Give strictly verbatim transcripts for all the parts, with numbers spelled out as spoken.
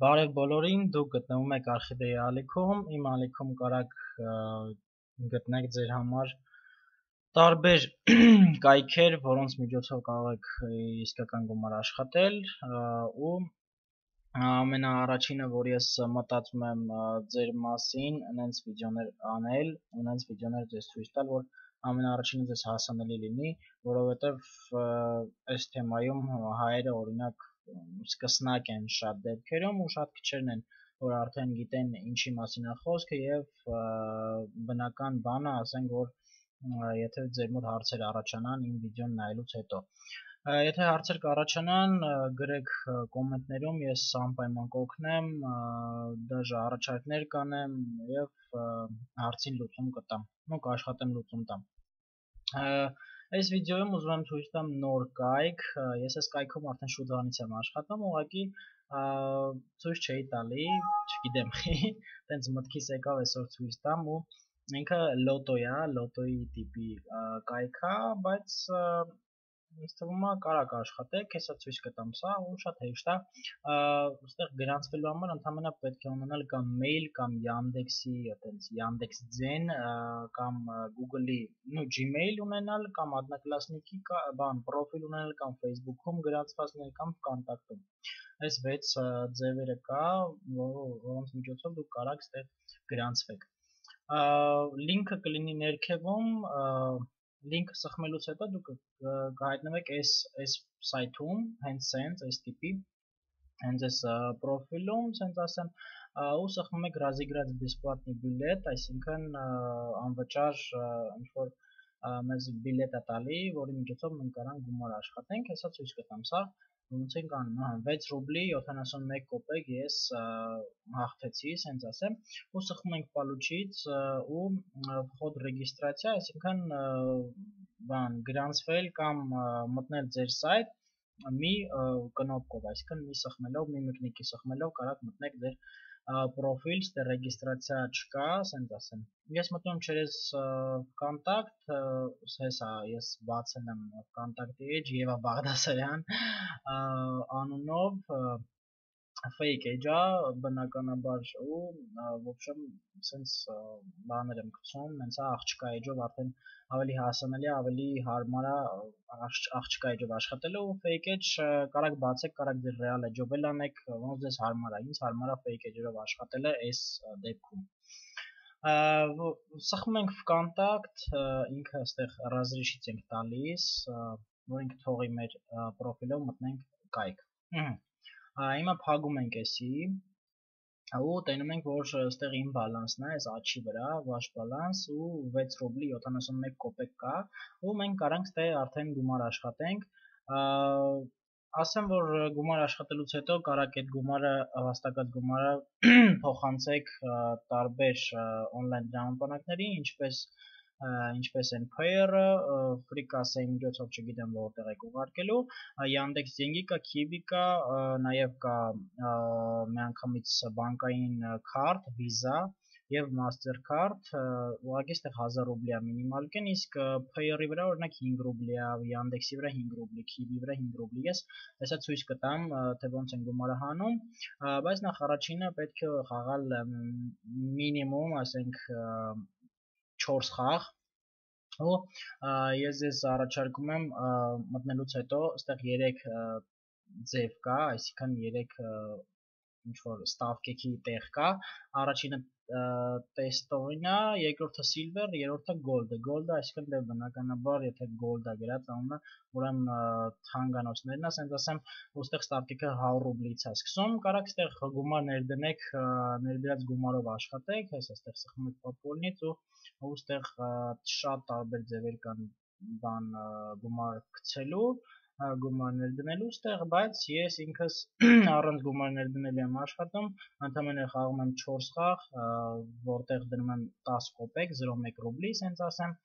Բարև բոլորին, դուք գտնվում եք Արխիվեի ալիքում, իմ ալիքում կարաք գտնեք ձեր համար տարբեր կայքեր, որոնց միջոցով կարող եք իսկական գումար աշխատել ու ամենաառաջինը, որ ես մտածում եմ ձեր մասին, նենց վիդեոներ անել, ու նենց վիդեոներ ձեզ ցույց տալ, որ ամենաառաջինը ձեզ հասանելի լինի, որովհետև այս թեմայում հայերը օրինակ սկսնակ են շատ դեպքերում ու շատ քչերն են, որ արդեն գիտեն ինչի մասին է խոսքը եւ բնական բանը, ասենք որ եթե ձեր մոտ հարցեր առաջանան իմ վիդեոն նայելուց հետո։ Եթե հարցեր կառաջանան, գրեք կոմենտներում, ես անպայման կօգնեմ, դաժե առաջարկներ կանեմ եւ հարցին լուծում կտամ, ու կաշխատեմ լուծում տամ։ Այս վիդեոյում ուզում եմ ցույց տամ նոր կայք, ես այս կայքում արդեն շուտ անից եմ աշխատում, ուղղակի ցույց չէի տալի, չգիտեմ, տենց մտքիս եկավ այսօր ցույց տամ ու ինքը լոտո է, լոտոյի տիպի կայք է, բայց ինձ թվում է կարակ աշխատեք, հեսա ցույց կտամ սա ու շատ հեշտ է, այստեղ գրանցվելու համար ընդհանրապես պետք է ունենալ կամ մեյլ կամ Yandex-ի, այտենց Yandex.Dzեն կամ Google-ի, նո Gmail ունենալ կամ одноклассники բան պրոֆիլ ունենալ կամ Facebook-ում գրանցված լինել կամ Vkontakte-ում։ Այս վեց ձևերը կա, որոնց միջոցով դուք կարաք այստեղ գրանցվեք։ Լինքը կլինի ներքևում, լինքը սխմելուց հետո դուք կհայտնվեք այս այս սայթում, հենց սենց այս տիպի, հենց այս պրոֆիլում, սենց ասեմ, ու սխմում եք разыграть бесплатный билет, այսինքն անվճար ինչ-որ մեզ բիլետ է տալի, որի միջոցով մենք կարանք գումար աշխատենք, հեսա ցույց կտամ սա, ոնց ենք անում, վեց ռուբլի յոթանասունմեկ կոպեկ ես հաղթեցի, սենց ասեմ, ու սխմում ենք պալուչից ու վխոդ ռեգիստրացիա, այսինքն բան գրանցվել կամ մտնել ձեր սայթ մի կնոպկով, այսինքն մի սխմելով, մի մկնիկի սխմելով կարաք մտնեք ձեր պրոֆիլ, ստե ռեգիստրացիա չկա, սենց ասեմ։ Ես մտնում չերես Vkontakte, հեսա ես բացել եմ Vkontakte էջ Եվա Բաղդասարյան անունով fake էջ է, բնականաբար ու ոբշեմ սենց բաներ եմ գցում, նենց է աղջկա էջով արդեն ավելի հասանելի, ավելի հարմար է աղջկա էջով աշխատելու, fake էջ կարաք բացեք, կարաք ձեր real էջով էլ անեք, ոնց ձեզ հարմար է, ինձ հարմար է fake էջով աշխատելը այս դեպքում։ Սխմում ենք Vkontakte, ինքը այստեղ разрешить ենք տալիս, որ ինքը թողի մեր պրոֆիլով մտնենք կայք։ Հիմա փակում ենք էսի, ու տենում ենք, որ այստեղ իմ բալանսն է, այս աչի վրա, վաշ բալանս ու վեց ռուբլի յոթանասունմեկ կոպեկ կա, ու մենք կարանք ստե արդեն գումար աշխատենք, ասեմ, որ գումար աշխատելուց հետո կարաք այդ գումարը, վաստակած գումարը փոխանցեք տարբեր օնլայն տրամաբանակների, ինչպես ինչպես են Payer-ը, Free-Cash-ի միջոցով չգիտեմ որտեղ եք ուղարկելու, Yandex.Деньги կա, Kiwi կա, նաև կա միանգամից բանկային քարտ, Visa եւ Mastercard, ուղղակի այստեղ հազար ռուբլի է մինիմալ կեն, իսկ Payer-ի վրա օրինակ հինգ ռուբլի է, Yandex-ի վրա հինգ ռուբլի, Kiwi-ի վրա հինգ ռուբլի, ես հեսա ցույց կտամ, թե ոնց են գումարը հանում, բայց նախ առաջինը պետք է խաղալ մինիմում, ասենք չորս խաղ, ու ես ձեզ առաջարկում եմ մտնելուց հետո այստեղ երեք ձև կա, այսինքն երեք ինչ-որ ստավկեքի տեղ կա, առաջինը տեստովին է, երկրորդը silver, երրորդը gold, gold-ը այսինքն դե բնականաբար, եթե gold-ը գրած անունը, ուրեմն թանկանոցներն է, սենց ասեմ, ու այստեղ ստավկեքը հարյուր ռուբլից է սկսում, կարաք այստեղ գումար ներդնեք, ներդրած գումարով աշխատեք, հես այստեղ սխմում եք պոպոլնից ու այստեղ շատ տարբեր ձևեր կան բան գումար գցելու, գումար ներդնելու այստեղ, բայց ես ինքս առանց գումար ներդնելու եմ աշխատում, ընդամենը խաղում եմ չորս խաղ, որտեղ դնում եմ տասը կոպեկ, զրո մեկ ռուբլի, սենց ասեմ,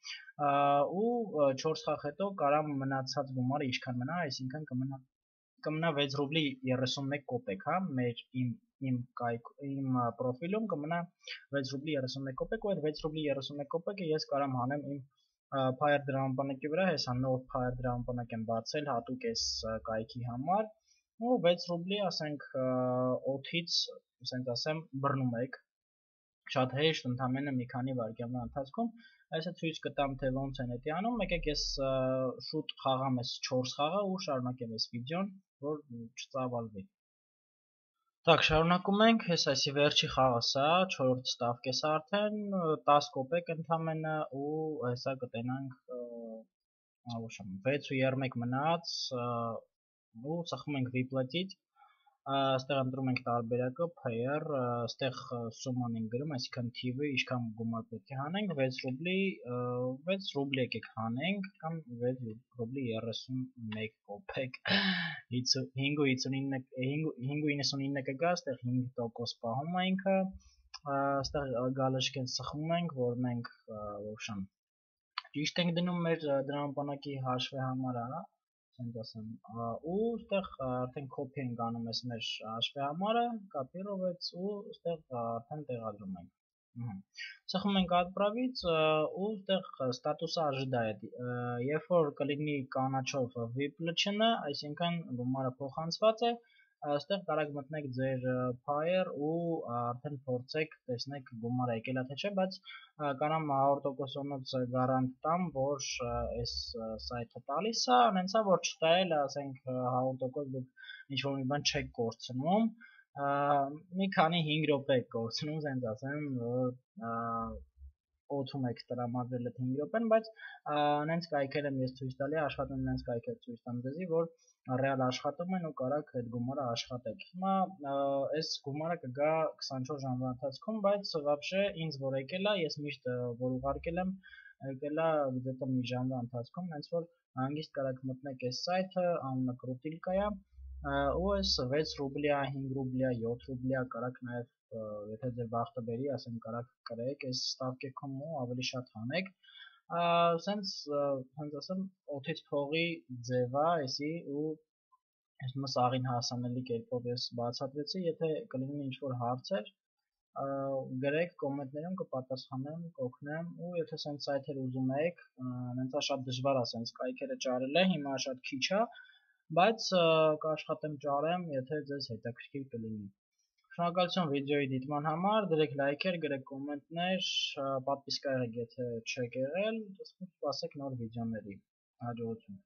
ու չորս խաղ հետո կարամ մնացած գումարը ինչքան մնա, այսինքն կմնա կմնա վեց ռուբլի երեսունմեկ կոպեկ, հա, մեր իմ իմ կայք իմ պրոֆիլում կմնա վեց ռուբլի երեսունմեկ կոպեկ, ու այդ վեց ռուբլի երեսունմեկ կոպեկը ես կարամ հանեմ իմ Payer դրամապանակի վրա, հեսա նոր Payer դրամապանակ եմ բացել հատուկ այս կայքի համար, ու վեց ռուբլի, ասենք, օթից, ասենք ասեմ, բռնում եք, շատ հեշտ, ընդամենը մի քանի վայրկյանների ընթացքում, այսը ցույց կտամ, թե ոնց են դա անում, եկեք ես շուտ խաղամ այս չորս խաղը ու շարունակեմ այս վիդեոն, որ չծավալվի։ Так, շարունակում ենք, ես այսի վերջի խաղը սա, չորրորդ ստավք է սա արդեն, տասը կոպեկ ընդամենը ու հեսա կտենանք վեց ու երմեք մնաց ու ծխում ենք վիպլետից, այստեղ ընտրում ենք տարբերակը, pair, այստեղ սուման ենք գրում, այսինքն թիվը ինչքան գումար պետք է հանենք, վեց ռուբլի, վեց ռուբլի եկեք հանենք, կամ վեց ռուբլի երեսունմեկ կոպեկ, հինգ ու իննսունինը կգա, այստեղ հինգ տոկոս պահում է ինքը, այստեղ գալշկեն սխում ենք, որ մենք ոբշան ճիշտ ենք դնում մեր դրամապանակի հաշվի համարը, ու այստեղ արդեն copy ենք անում ես մեր հաշվի համարը, կապիրովեց ու այստեղ արդեն տեղադրում ենք։ Սխում ենք отправից ու այստեղ ստատուսը ожидает է, երբ որ կլինի կանաչով վիպ լճնը, այսինքն գումարը փոխանցված է, այստեղ կարաք մտնեք ձեր pair ու արդեն փորձեք, տեսնեք գումարը եկել է թե չէ, բայց կարամ հարյուր տոկոսանոց գարանտ տամ, որ այս սայթը տալիս է, անենցա որ չտայել, ասենք հարյուր տոկոս դուք ինչ-որ մի բան չեք կորցնում, մի քանի հինգ րոպե եք կորցնում, ասենց ասեմ, որ օթում եք տրամադրել այդ հինգ րոպեն, բայց նենց կայքեր եմ ես ցույց տալի, աշխատում նենց կայքեր ցույց տամ ձեզի, որ ռեալ աշխատում են ու կարաք այդ գումարը աշխատեք։ Հիմա այս գումարը կգա քսանչորս ժամվա ընթացքում, բայց вообще ինձ որ եկել է, ես միշտ որ ուղարկել եմ, եկել է где-то մի ժամվա ընթացքում, հենց որ հանգիստ կարաք մտնեք այս սայթը, անունը Կրուտիլկա է, ու այս վեց ռուբլիա, հինգ ռուբլիա, յոթ ռուբլիա կարաք նաև, եթե ձեր բախտը բերի, ասեմ կարաք կրեք այս ստավկեքում ու ավելի շատ հանեք, սենց, հենց ասեմ, օթից փողի ձև է, այսի ու ես մս աղին հասանելի կերպով ես բացատրեցի, եթե կլինի ինչ-որ հարցեր, գրեք կոմենտներում կպատասխանեմ, կօգնեմ ու եթե սենց սայթեր ուզում եք, նենցա շատ դժվար է սենց կայքերը ճարել է, հիմա շատ քիչ է, բայց կաշխատեմ ճարեմ, եթե ձեզ հետաքրքիր կլինի։ Շնորհակալություն վիդեոյի դիտման համար, դրեք լայքեր, գրեք կոմենտներ, պատվիսկա եղեք եթե չեք եղել, սպասեք նոր վիդեոների, հաջողություն։